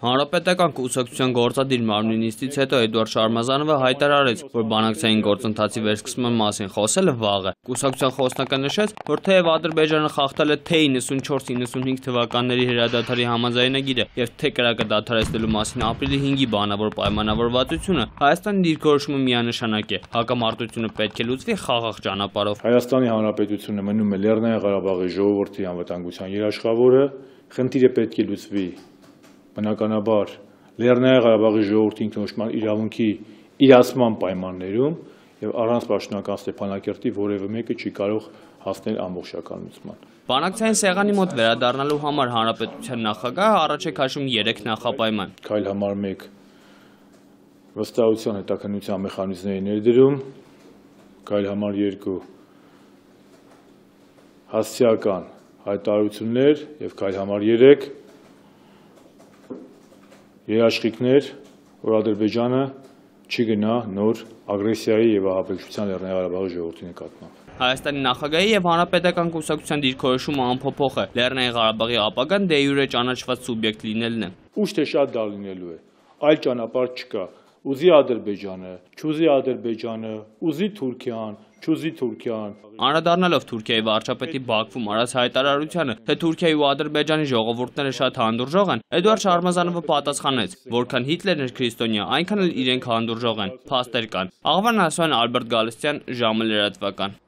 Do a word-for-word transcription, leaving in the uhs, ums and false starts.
Հանրապետական կուսակցության գործադիր մարմնի նիստից հետո Էդուարդ Շարմազանովը հայտարարեց, որ բանակցային գործընթացի վերսկսման մասին խոսելը վաղ է։ Կուսակցության խոսնակը նշեց, որ թեև Ադրբեջանը խախտել է թե իննսունչորս իննսունհինգ թվականների հրադադարի համաձայնագիրը եւ թե կրակը դադարեցնելու մասին ապրիլի հինգի բանավոր պայմանավորվածությունը, Հայաստանի դիրքորոշումը միանշանակ է։ Հակամարտությունը պետք է լուծվի խաղաղ ճանապարհով։ Հայաստանի Հանրապետությունը մնում է Լեռնային Ղարաբաղի ժողովրդի անվտանգության երաշխավորը, խնդիրը պետք է լուծվի բնականաբար Լեռնային Ղարաբաղի ժողովրդի ինքնորոշման իրավունքի իրացման պայմաններում եւ առանց պաշտոնական Ստեփանակերտի որևէ մեկը չի կարող հասնել ամբողջական լուծման։ Բանակցային սեղանի մոտ վերադառնալու համար հանրապետության նախագահը առաջ է քաշում երեք նախապայման։ Քայլ համար մեկ վստահության հետաքննության մեխանիզմների ներդրում, քայլ համար երկու հասցեական հայտարարություններ եւ քայլ համար երեք երաշխիքներ, որ Ադրբեջանը չի գնա նոր ագրեսիայի եւ ահաբեկչության Լեռնային Ղարաբաղի ժողովրդի նկատմամբ։ Հայաստանի նախագահի եւ հանրապետական կուսակցության դիրքորոշումը անփոփոխ է։ Լեռնային Ղարաբաղի ապագան դե յուրե ճանաչված սուբյեկտ լինելն է։ Ուշ թե շատ դա լինելու է։ Այլ ճանապարհ չկա։ Ուզի Ադրբեջանը, չուզի Ադրբեջանը, ուզի Թուրքիան, չուզի Թուրքիան։ Անդրադառնալով Թուրքիայի վարչապետի Բաքվում արած հայտարարությանը, թե Թուրքիայի ու Ադրբեջանի ժողովուրդները շատ հանդուրժող են, Էդուարդ Շարմազանովը պատասխանեց, որքան Հիտլերն էր քրիստոնյա, այնքան էլ իրենք հանդուրժող են, փաստեր կան։ Աղվան Ասյան, Ալբերտ Գալստյան, ժամը լրատվական։